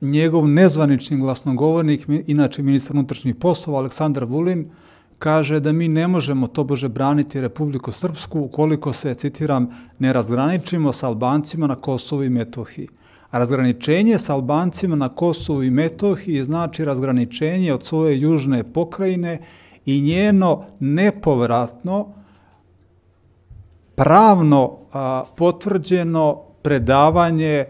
njegov nezvanični glasnogovornik, inače ministar unutrašnjih poslova Aleksandar Vulin, kaže da mi ne možemo tobože braniti Republiku Srpsku ukoliko se, citiram, ne razgraničimo sa Albancima na Kosovu i Metohiji. A razgraničenje sa Albancima na Kosovu i Metohiji znači razgraničenje od svoje južne pokrajine i njeno nepovratno, pravno a, potvrđeno predavanje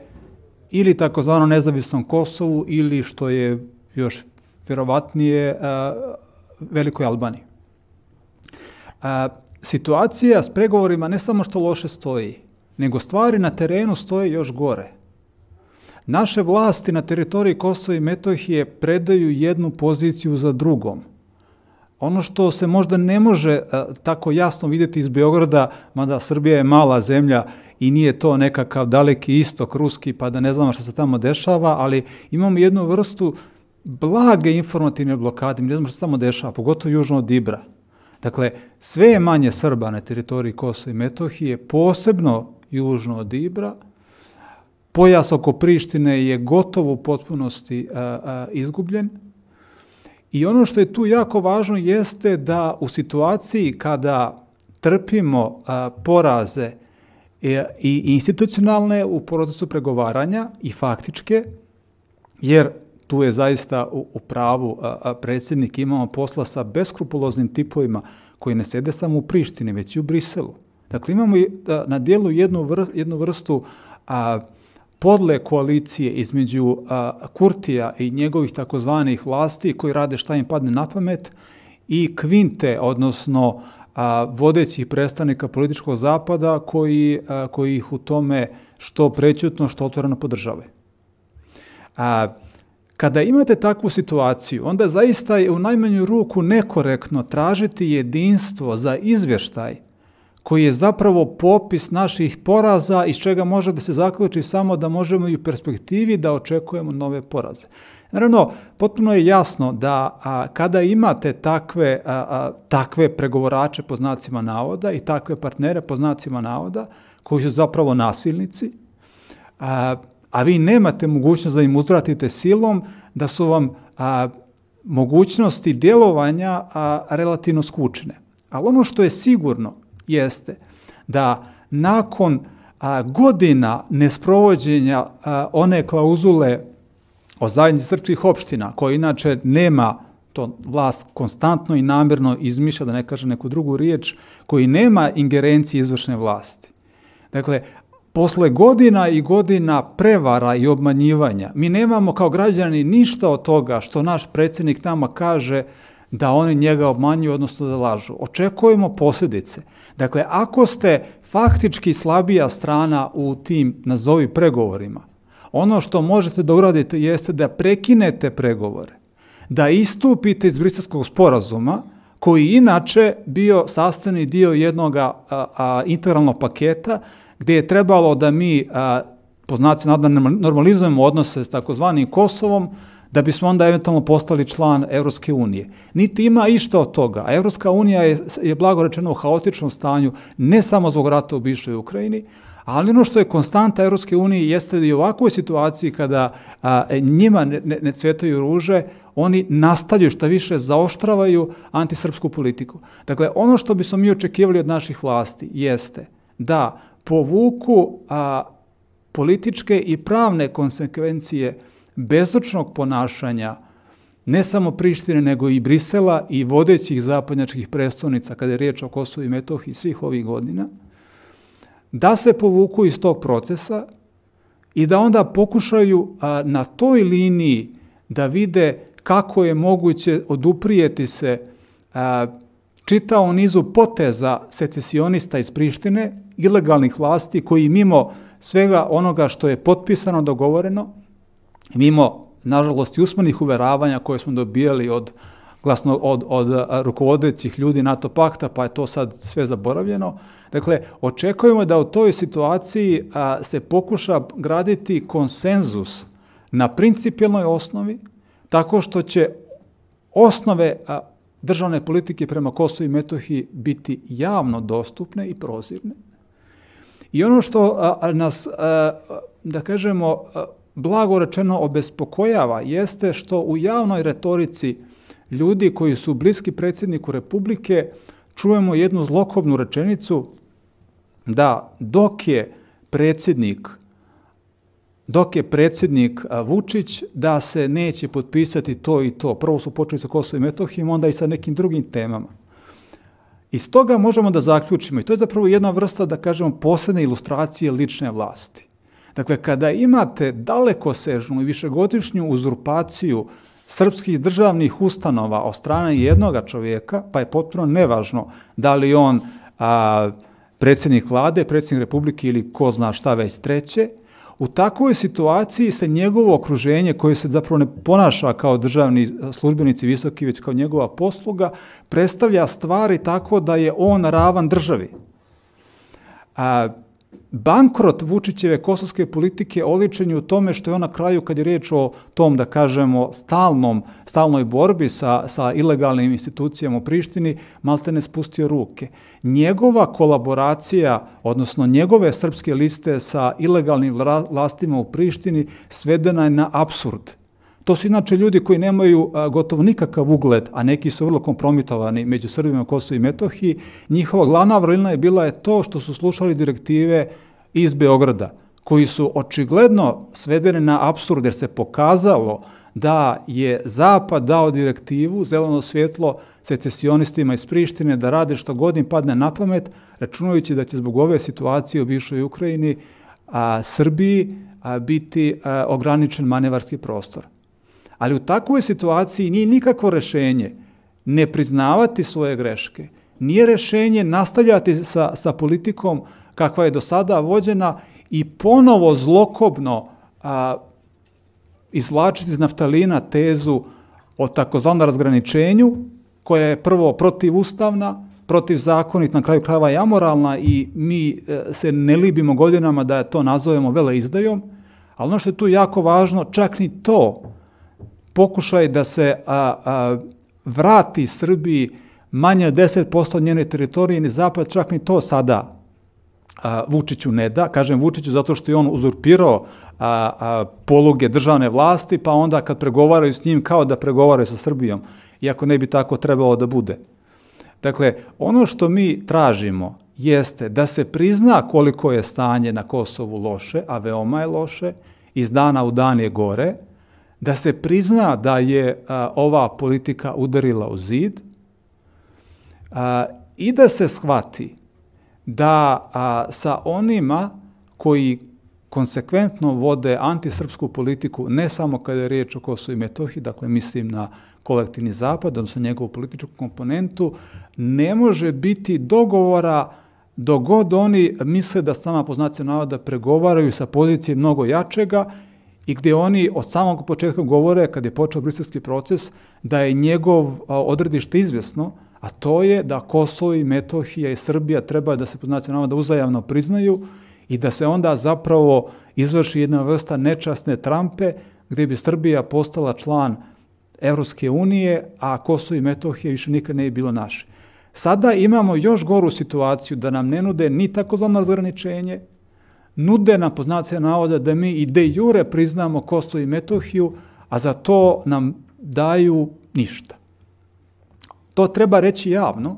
ili takozvano nezavisnom Kosovu ili što je još vjerovatnije a, Velikoj Albaniji. A, situacija s pregovorima ne samo što loše stoji, nego stvari na terenu stoje još gore. Naše vlasti na teritoriji Kosova i Metohije predaju jednu poziciju za drugom. Ono što se možda ne može a, tako jasno vidjeti iz Beograda, mada Srbija je mala zemlja i nije to nekakav daleki istok ruski, pa da ne znamo što se tamo dešava, ali imamo jednu vrstu blage informativne blokade, mi ne znamo što se tamo dešava, pogotovo južno od Ibra. Dakle, sve je manje Srba na teritoriji Kosova i Metohije, posebno južno od Ibra. Pojas oko Prištine je gotovo u potpunosti a, a, izgubljen. I ono što je tu jako važno jeste da u situaciji kada trpimo a, poraze e, i institucionalne u procesu pregovaranja i faktičke, jer tu je zaista u, u pravu a, a, predsjednik, imamo posla sa beskrupuloznim tipovima koji ne sede samo u Prištini, već i u Briselu. Dakle, imamo a, na dijelu jednu, vr, jednu vrstu a, podle koalicije između a, Kurtija i njegovih takozvanih vlasti koji rade šta im padne na pamet i kvinte, odnosno a, vodećih predstavnika političkog zapada koji, a, koji ih u tome što prećutno, što otvoreno podržave. A, Kada imate takvu situaciju, onda zaista je u najmanju ruku nekorektno tražiti jedinstvo za izvještaj koji je zapravo popis naših poraza iz čega može da se zaključi samo da možemo i u perspektivi da očekujemo nove poraze. Naravno, potpuno je jasno da a, kada imate takve, a, a, takve pregovorače po znacima navoda i takve partnere po znacima navoda koji su zapravo nasilnici, a, a vi nemate mogućnost da im uzvratite silom, da su vam a, mogućnosti djelovanja a, relativno skučene. Ali ono što je sigurno jeste da nakon a, godina nesprovođenja a, one klauzule o zajednici srpskih opština, koja inače nema, to vlast konstantno i namjerno izmišlja, da ne kaže neku drugu riječ, koji nema ingerencije izvršne vlasti. Dakle, posle godina i godina prevara i obmanjivanja, mi nemamo kao građani ništa od toga što naš predsjednik nama kaže da oni njega obmanjuju, odnosno da lažu. Očekujemo posljedice. Dakle, ako ste faktički slabija strana u tim, nazovi, pregovorima, ono što možete da uradite jeste da prekinete pregovore, da istupite iz Briselskog sporazuma, koji inače bio sastavni dio jednog a, a, integralnog paketa, gdje je trebalo da mi, a, po znacima navoda, normalizujemo odnose s takozvanim Kosovom, da bismo onda eventualno postali član Evropske unije. Niti ima išta od toga. A Evropska unija je, je blago rečeno u haotičnom stanju, ne samo zbog rata u bivšoj Ukrajini, ali ono što je konstanta Evropske unije jeste da i u ovakvoj situaciji kada a, njima ne, ne, ne cvetaju ruže, oni nastavljaju, šta više zaoštravaju antisrpsku politiku. Dakle, ono što bismo mi očekivali od naših vlasti jeste da povuku a, političke i pravne konsekvencije bezočnog ponašanja ne samo Prištine, nego i Brisela i vodećih zapadnjačkih prestolnica kada je riječ o Kosovu i Metohiji svih ovih godina, da se povuku iz tog procesa i da onda pokušaju a, na toj liniji da vide kako je moguće oduprijeti se a, čitavom nizu poteza secesionista iz Prištine, ilegalnih vlasti koji mimo svega onoga što je potpisano, dogovoreno, mimo, nažalost, i usmenih uveravanja koje smo dobijali od, glasno, od, od rukovodećih ljudi NATO pakta, pa je to sad sve zaboravljeno. Dakle, očekujemo da u toj situaciji a, se pokuša graditi konsenzus na principijelnoj osnovi, tako što će osnove a, državne politike prema Kosovu i Metohiji biti javno dostupne i prozirne. I ono što a, a, nas, a, da kažemo, a, blago rečeno obespokojava jeste što u javnoj retorici ljudi koji su bliski predsjedniku Republike čujemo jednu zlokobnu rečenicu da dok je predsjednik dok je predsjednik Vučić da se neće potpisati to i to. Prvo su počeli sa Kosovom i Metohijom, onda i sa nekim drugim temama. Iz toga možemo da zaključimo, i to je zapravo jedna vrsta, da kažemo, posebne ilustracije lične vlasti. Dakle, kada imate dalekosežnu i višegodišnju uzurpaciju srpskih državnih ustanova od strane jednoga čovjeka, pa je potpuno nevažno da li on a, predsjednik vlade, predsjednik Republike ili ko zna šta već treće, u takvoj situaciji se njegovo okruženje, koje se zapravo ne ponaša kao državni službenici visoki, već kao njegova posluga, predstavlja stvari tako da je on ravan državi. A, bankrot Vučićeve kosovske politike oličen je u tome što je on na kraju, kad je riječ o tom, da kažemo, stalnom, stalnoj borbi sa, sa ilegalnim institucijama u Prištini, malte ne spustio ruke. Njegova kolaboracija, odnosno njegove srpske liste sa ilegalnim vlastima u Prištini svedena je na apsurd. To su inače ljudi koji nemaju a, gotovo nikakav ugled, a neki su vrlo kompromitovani među Srbima, Kosovo i Metohiji. Njihova glavna vrlina je bila je to što su slušali direktive iz Beograda, koji su očigledno svedene na apsurd, jer se pokazalo da je Zapad dao direktivu, zeleno svjetlo secesionistima iz Prištine da rade što god im padne na pamet, računajući da će zbog ove situacije u bivšoj Ukrajini a, Srbiji a, biti a, ograničen manevarski prostor. Ali u takvoj situaciji nije nikakvo rješenje ne priznavati svoje greške, nije rješenje nastavljati sa, sa politikom kakva je do sada vođena i ponovo zlokobno a, izvlačiti iz naftalina tezu o takozvanom razgraničenju, koja je prvo protivustavna, protivzakonit, na kraju krajeva i amoralna, i mi e, se ne libimo godinama da to nazovemo veleizdajom, ali ono što je tu jako važno, čak ni to, pokušaj da se a, a, vrati Srbiji manje od deset posto njene teritorije, ni Zapad, čak ni to sada a, Vučiću ne da. Kažem Vučiću zato što je on uzurpirao a, a, poluge državne vlasti, pa onda kad pregovaraju s njim kao da pregovaraju sa Srbijom, iako ne bi tako trebalo da bude. Dakle, ono što mi tražimo jeste da se prizna koliko je stanje na Kosovu loše, a veoma je loše, iz dana u dan je gore, da se prizna da je a, ova politika udarila u zid a, i da se shvati da a, sa onima koji konsekventno vode antisrpsku politiku, ne samo kada je riječ o Kosovu i Metohiji, dakle mislim na kolektivni zapad, odnosno njegovu političku komponentu, ne može biti dogovora dok god oni misle da sama po znacima navoda pregovaraju sa pozicije mnogo jačega i gdje oni od samog početka govore, kad je počeo briselski proces, da je njegov odredište izvjesno, a to je da Kosovo i Metohija i Srbija treba da se po znacima navoda uzajamno priznaju i da se onda zapravo izvrši jedna vrsta nečasne trampe gdje bi Srbija postala član Evropske unije, a Kosovo i Metohija više nikad ne bi bilo naše. Sada imamo još goru situaciju da nam ne nude ni takozvano razgraničenje, nude nam po znacima navoda da mi i de jure priznamo Kosovo i Metohiju, a za to nam daju ništa. To treba reći javno.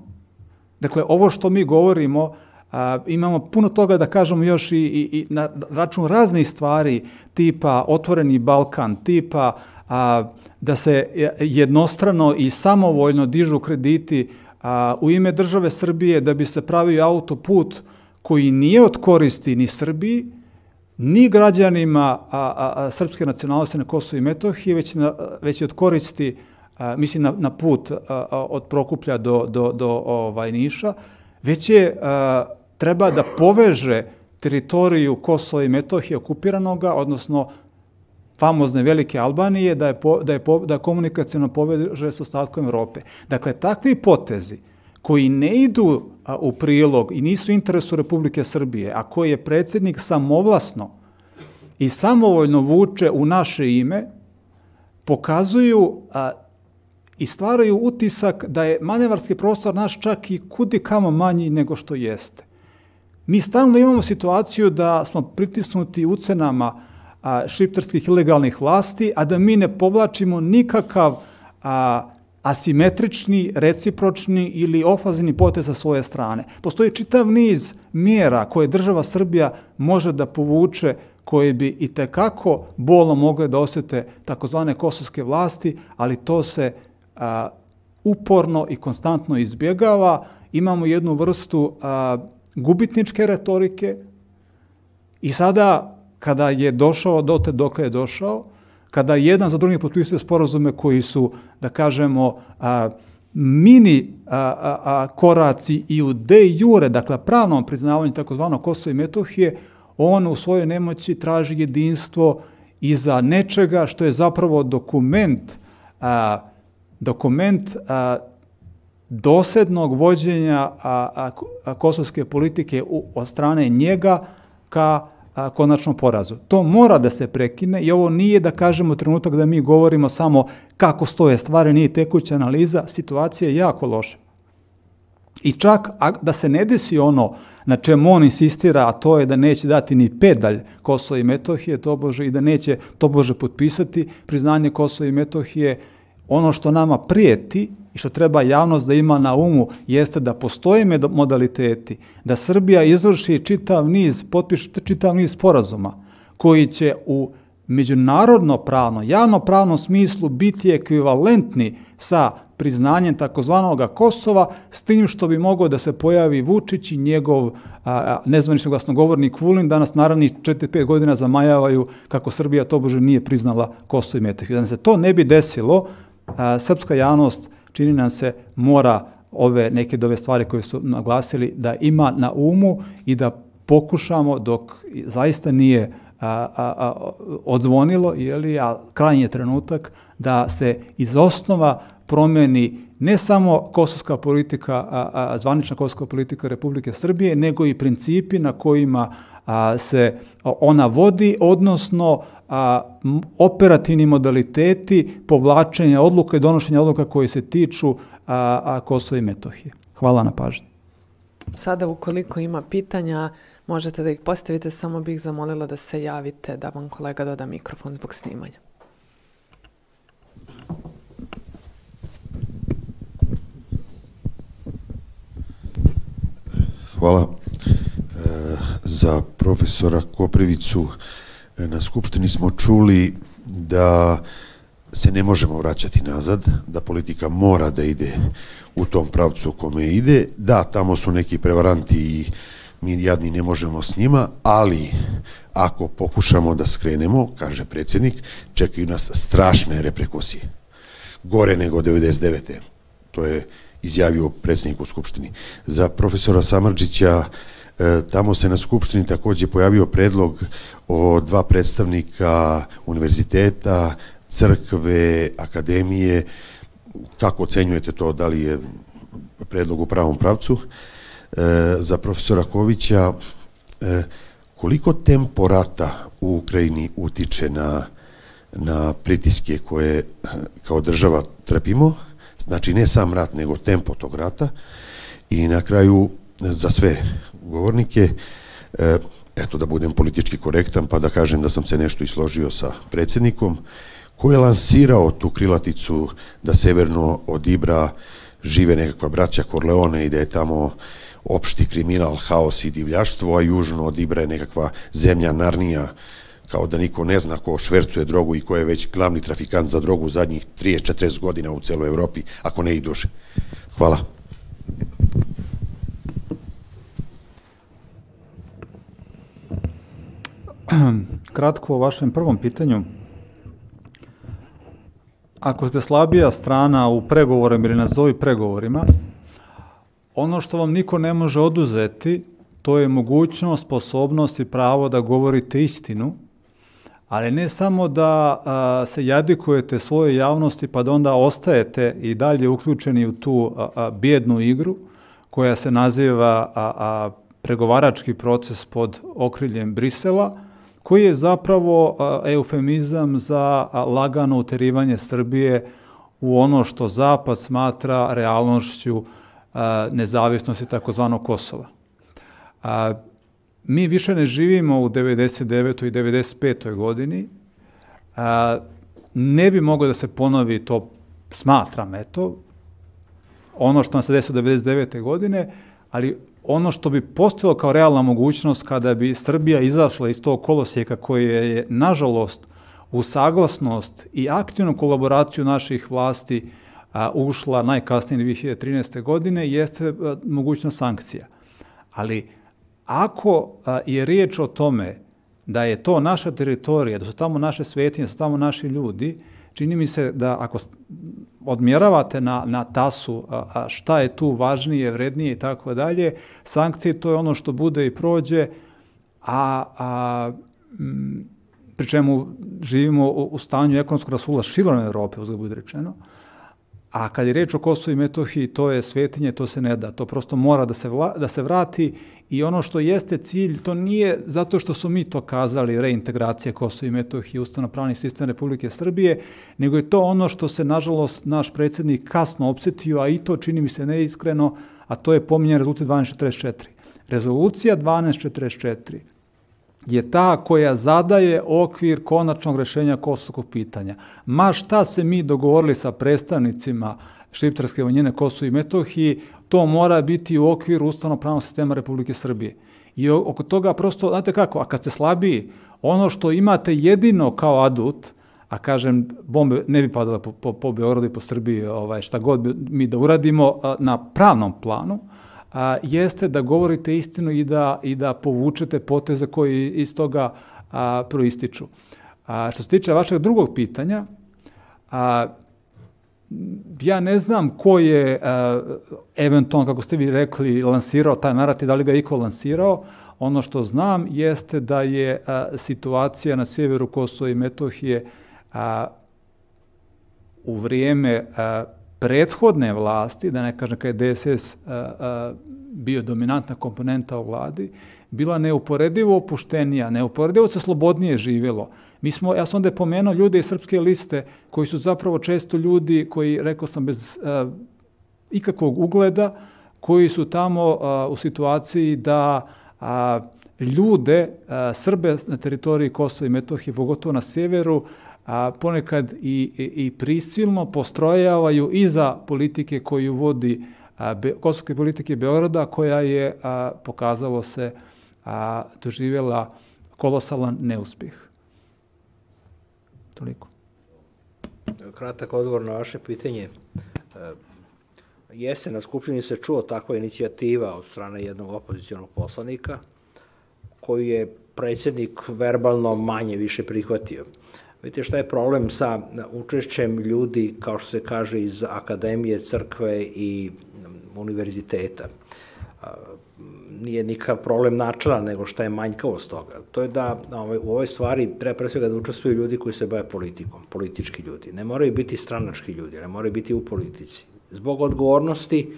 Dakle, ovo što mi govorimo, a, imamo puno toga da kažemo još i, i, i na račun raznih stvari, tipa Otvoreni Balkan, tipa a, da se jednostrano i samovoljno dižu krediti a, u ime države Srbije da bi se pravio autoput koji nije od koristi ni Srbiji, ni građanima a, a, a, srpske nacionalnosti na Kosovo i Metohiji, već, na, već je od koristi, a, mislim, na, na put a, a, od Prokuplja do, do, do ovaj, Niša, već je a, treba da poveže teritoriju Kosova i Metohije okupiranoga, odnosno famozne Velike Albanije, da je, po, da je, po, da komunikaciono poveže sa ostatkom Evrope. Dakle, takvi potezi koji ne idu a, u prilog i nisu u interesu Republike Srbije, a koji je predsjednik samovlasno i samovoljno vuče u naše ime, pokazuju a, i stvaraju utisak da je manevarski prostor naš čak i kudi kamo manji nego što jeste. Mi stalno imamo situaciju da smo pritisnuti ucenama a, šiptarskih ilegalnih vlasti, a da mi ne povlačimo nikakav a, asimetrični, recipročni ili ofazini potez sa svoje strane. Postoji čitav niz mjera koje država Srbija može da povuče, koje bi i tekako bolno mogle da osjete takozvane kosovske vlasti, ali to se a, uporno i konstantno izbjegava. Imamo jednu vrstu a, gubitničke retorike i sada kada je došao dotle dokle je došao, kada jedan za drugim potpisuje sporazume koji su, da kažemo, a, mini a, a, a, koraci i u de jure, dakle pravnom priznavanju takozvanog Kosova i Metohije, on u svojoj nemoći traži jedinstvo iza nečega što je zapravo dokument, a, dokument a, dosljednog vođenja a, a, a, kosovske politike u, od strane njega ka a, konačnom porazu. To mora da se prekine i ovo nije, da kažemo, trenutak da mi govorimo samo kako stoje stvari, nije tekuća analiza, situacija je jako loša. I čak a, da se ne desi ono na čemu on insistira, a to je da neće dati ni pedalj Kosova i Metohije, tobože, i da neće tobože potpisati priznanje Kosova i Metohije, ono što nama prijeti i što treba javnost da ima na umu jeste da postoje modaliteti, da Srbija izvrši čitav niz, potpiše čitav niz sporazuma koji će u međunarodno pravno, javno pravnom smislu biti ekvivalentni sa priznanjem takozvanog Kosova, s tim što bi mogao da se pojavi Vučić i njegov a, nezvanični glasnogovornik Vulin, danas naravnih četiri pet godina zamajavaju kako Srbija tobože nije priznala Kosovo i Metohiju. Da se to ne bi desilo, a, srpska javnost, čini nam se, mora ove neke dove stvari koje su naglasili da ima na umu i da pokušamo, dok zaista nije a, a, a, odzvonilo, jeli, a krajnji je trenutak da se iz osnova promeni ne samo kosovska politika, a, a, zvanična kosovska politika Republike Srbije, nego i principi na kojima a, se ona vodi, odnosno a, operativni modaliteti povlačenja odluka i donošenja odluka koje se tiču a, a, Kosova i Metohije. Hvala na pažnji. Sada, ukoliko ima pitanja, možete da ih postavite, samo bih zamolila da se javite, da vam kolega doda mikrofon zbog snimanja. Hvala e, za profesora Koprivicu. E, na Skupštini smo čuli da se ne možemo vraćati nazad, da politika mora da ide u tom pravcu u kome ide. Da, tamo su neki prevaranti i mi jadni ne možemo s njima, ali ako pokušamo da skrenemo, kaže predsjednik, čekaju nas strašne reperkusije gore nego devedeset devete. To je izjavio predsjednik u Skupštini. Za profesora Samardžića, tamo se na Skupštini takođe pojavio predlog o dva predstavnika univerziteta, crkve, akademije. Kako ocenjujete to, da li je predlog u pravom pravcu? Za profesora Kovića, koliko tempo rata u Ukrajini utiče na, na pritiske koje kao država trpimo? Znači ne sam rat, nego tempo tog rata. I na kraju, za sve govornike, eto da budem politički korektan, pa da kažem da sam se nešto i složio sa predsjednikom, ko je lansirao tu krilaticu da severno od Ibra žive nekakva braća Korleone i da je tamo opšti kriminal, haos i divljaštvo, a južno od Ibra je nekakva zemlja Narnija, kao da niko ne zna ko švercuje drogu i ko je već glavni trafikant za drogu zadnjih trideset do četrdeset godina u celoj Evropi, ako ne i duže. Hvala. Kratko o vašem prvom pitanju. Ako ste slabija strana u pregovorima ili nazovi pregovorima, ono što vam niko ne može oduzeti, to je mogućnost, sposobnost i pravo da govorite istinu, ali ne samo da a, se jadikujete svoje javnosti pa da onda ostajete i dalje uključeni u tu a, a, bijednu igru koja se naziva a, a, pregovarački proces pod okriljem Brisela, koji je zapravo a, eufemizam za a, lagano uterivanje Srbije u ono što Zapad smatra realnošću a, nezavisnosti takozvanog Kosova. A, mi više ne živimo u devedeset devetoj i devedeset petoj godini. A, ne bi moglo da se ponovi, to smatram, eto, ono što nam se desilo devedeset devete godine, ali ono što bi postojalo kao realna mogućnost kada bi Srbija izašla iz tog kolosijeka koje je, nažalost, u saglasnost i aktivnu kolaboraciju naših vlasti a, ušla najkasnije dve hiljade trinaeste. godine, jeste a, mogućnost sankcija. Ali ako a, je riječ o tome da je to naša teritorija, da su tamo naše svetinje, da su tamo naši ljudi, čini mi se da ako odmjeravate na, na tasu a, a šta je tu važnije, vrednije i tako dalje, sankcije to je ono što bude i prođe, a, a m, pri čemu živimo u, u stanju ekonomskog rasula širom Evrope, uzgled bude rečeno, a kad je riječ o Kosovu i Metohiji, to je svetinje, to se ne da, to prosto mora da se, vla, da se vrati i ono što jeste cilj, to nije zato što su mi to kazali, reintegracija Kosova i Metohije, ustavno-pravni sistem Republike Srbije, nego je to ono što se, nažalost, naš predsjednik kasno opsetio, a i to čini mi se neiskreno, a to je pominjanje rezolucije dvanaest četrdeset četiri. Rezolucija dvanaest četrdeset četiri je ta koja zadaje okvir konačnog rešenja kosovskog pitanja. Ma šta se mi dogovorili sa predstavnicima šiptarske manjine Kosovo i Metohiji, to mora biti u okviru ustavno-pravnog sistema Republike Srbije. I oko toga prosto, znate kako, a kad ste slabiji, ono što imate jedino kao adut, a kažem, bombe ne bi padale po, po, po Beogradu i po Srbiji, ovaj, šta god mi da uradimo na pravnom planu, a, jeste da govorite istinu i da, i da povučete poteze koji iz toga a, proističu. A, što se tiče vašeg drugog pitanja, a, ja ne znam ko je a, eventualno, kako ste vi rekli, lansirao taj narativ, da li ga iko lansirao. Ono što znam jeste da je a, situacija na sjeveru Kosova i Metohije a, u vrijeme a, prethodne vlasti, da ne kažem kada je D S S a, a, bio dominantna komponenta u vladi, bila neuporedivo opuštenija, neuporedivo se slobodnije živjelo. Mi smo, ja sam onda pomenuo ljude iz Srpske liste, koji su zapravo često ljudi koji, rekao sam, bez a, ikakvog ugleda, koji su tamo a, u situaciji da a, ljude, a, Srbe na teritoriji Kosova i Metohije, pogotovo na sjeveru, a ponekad i, i, i prisilno postrojavaju iza politike koju vodi a, be, kosovske politike Beograda, koja je, a, pokazalo se, a, doživjela kolosalan neuspjeh. Toliko. Kratak odgovor na vaše pitanje. Jeste, na Skupštini se čuo takva inicijativa od strane jednog opozicionog poslanika, koju je predsjednik verbalno manje više prihvatio. Vidite šta je problem sa učešćem ljudi, kao što se kaže, iz akademije, crkve i univerziteta. Nije nikakav problem načela, nego šta je manjkavost toga. To je da u ovoj stvari treba pre svega da učestvuju ljudi koji se bave politikom, politički ljudi. Ne moraju biti stranački ljudi, ne moraju biti u politici. Zbog odgovornosti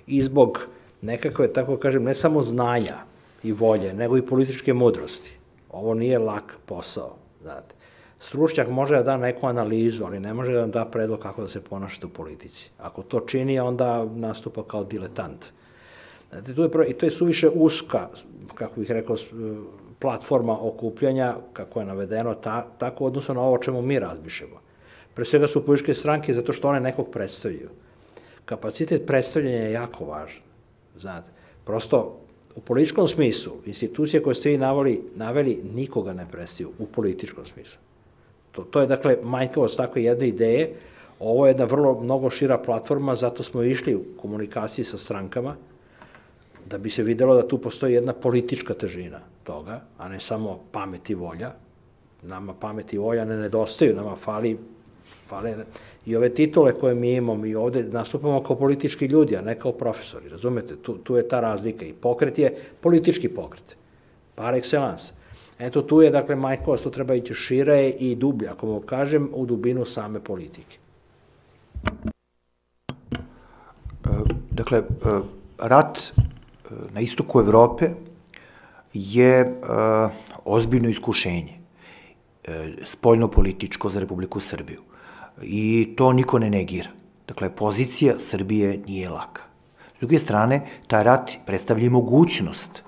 i zbog nekakve, tako kažem, ne samo znanja i volje, nego i političke mudrosti. Ovo nije lak posao, znate. Stručnjak može da da neku analizu, ali ne može da da predlog kako da se ponašate u politici. Ako to čini, onda nastupa kao diletant. Znate, tu je, i to je suviše uska, kako bih rekao, platforma okupljanja, kako je navedeno, ta, tako odnosno na ovo o čemu mi razmišljamo. Pre svega su političke stranke zato što one nekog predstavljaju. Kapacitet predstavljanja je jako važan. Znate, prosto u političkom smislu, institucije koje ste vi naveli, naveli nikoga ne predstavljaju u političkom smislu. To, to je, dakle, manjkavost takve jedne ideje. Ovo je jedna vrlo mnogo šira platforma, zato smo išli u komunikaciji sa strankama, da bi se videlo da tu postoji jedna politička težina toga, a ne samo pamet i volja. Nama pamet i volja ne nedostaju, nama fali, fali i ove titule koje mi imamo i ovde nastupamo kao politički ljudi, a ne kao profesori, razumete? Tu, tu je ta razlika i pokret je politički pokret, par excellence. Eto, tu je, dakle, manjkavost, tu treba ići šire i dublje, ako mogu kažem, u dubinu same politike. Dakle, rat na istoku Evrope je ozbiljno iskušenje, spoljno-političko za Republiku Srbiju. I to niko ne negira. Dakle, pozicija Srbije nije laka. S druge strane, taj rat predstavlja mogućnost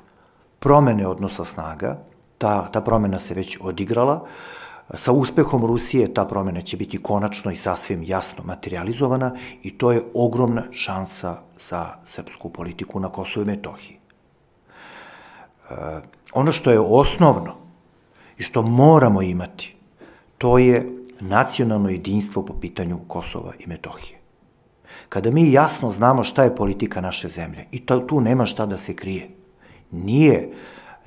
promene odnosa snaga. Ta, ta promena se već odigrala. Sa uspehom Rusije ta promena će biti konačno i sasvim jasno materializovana i to je ogromna šansa za srpsku politiku na Kosovu i Metohiji. E, ono što je osnovno i što moramo imati, to je nacionalno jedinstvo po pitanju Kosova i Metohije. Kada mi jasno znamo šta je politika naše zemlje, i to, tu nema šta da se krije, nije,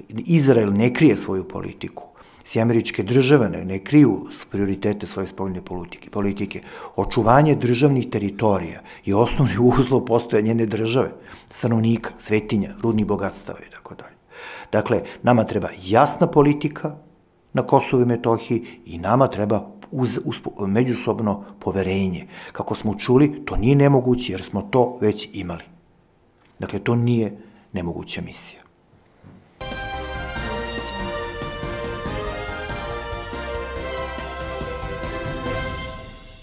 Izrael ne krije svoju politiku, Sjedinjene Američke Države ne, ne kriju prioritete svoje spoljne politike, politike. Očuvanje državnih teritorija je osnovni uslov postojanja njene države, stanovnika, svetinja, rudnih bogatstava i tako dalje. Dakle, nama treba jasna politika na Kosovu i Metohiji i nama treba uz, uz međusobno poverenje. Kako smo čuli, to nije nemoguće jer smo to već imali. Dakle, to nije nemoguća misija.